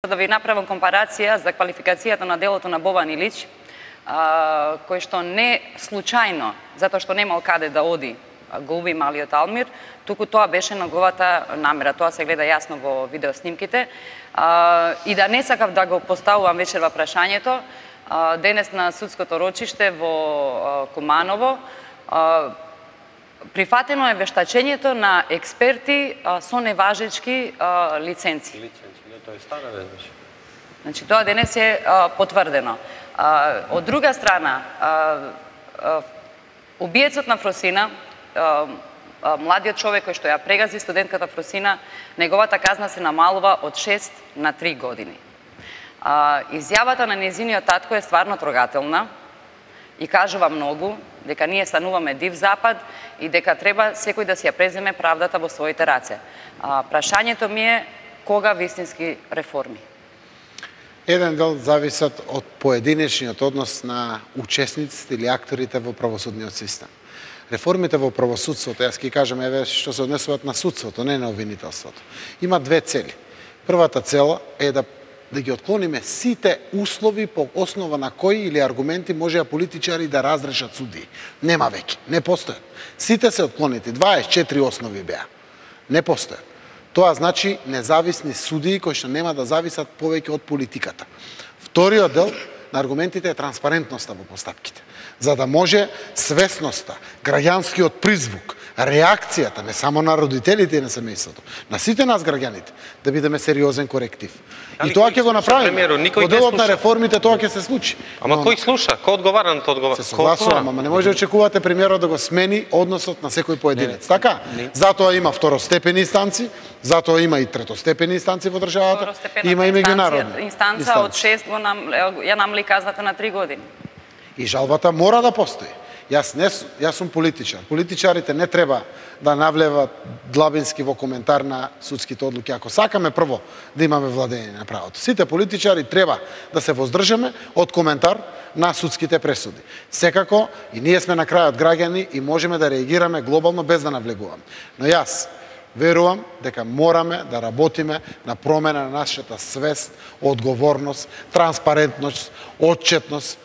Да ви направам компарација за квалификацијата на делото на Бобан Илич, кој што не случајно, затоа што немал каде да оди, го уби малиот Алмир, туку тоа беше неговата намера. Тоа се гледа јасно во видеоснимките. И да не сакав да го поставувам вечерва прашањето, денес на судското рочиште во Куманово, прифатено е вештачењето на експерти со неважечки лиценци. Тоа е стара веднаш. Значи, тоа денес е потврдено. Од друга страна, убиецот на Фросина, младиот човек кој што ја прегази студентката Фросина, неговата казна се намалува од 6 на 3 години. Изјавата на нејзиниот татко е стварно трогателна и кажува многу, дека ние стануваме див запад и дека треба секој да си ја преземе правдата во своите раце. Прашањето ми е кога вистински реформи? Еден дел зависат од поединечниот однос на учесниците или акторите во правосудниот систем. Реформите во правосудството, јас ќе кажам еве што се однесуваат на судството, не на обвинителството. Има две цели. Првата цела е да ги отклониме сите услови по основа на кои или аргументи можеа политичари да разрешат судии. Нема веќе, не постојат. Сите се отклонети, 24 основи беа. Не постојат. Тоа значи независни судии кои што нема да зависат повеќе од политиката. Вториот дел на аргументите е транспарентноста во постапките. За да може свесноста, граѓанскиот призвук, реакцијата не само на родителите и на семејството, на сите нас граѓаните, да бидеме сериозен коректив. И тоа ќе го направиме. Во делот на реформите тоа ќе се случи. Ама кој слуша? Кој одговара на тоа одговара? Се согласувам, ама не може да очекувате премиерот да го смени односот на секој поединец. Така? Затоа има второстепени инстанци, затоа има и третостепени инстанци во државата, има и меѓународни инстанца од 6 ја намали казната на 3 години. И жалбата мора да постои. Јас сум политичар. Политичарите не треба да навлеват длабински во коментар на судските одлуки. Ако сакаме прво да имаме владење на правото, сите политичари треба да се воздржаме од коментар на судските пресуди. Секако и ние сме на крајот граѓани и можеме да реагираме глобално без да навлегуваме. Но јас верувам дека мораме да работиме на промена на нашата свест, одговорност, транспарентност, отчетност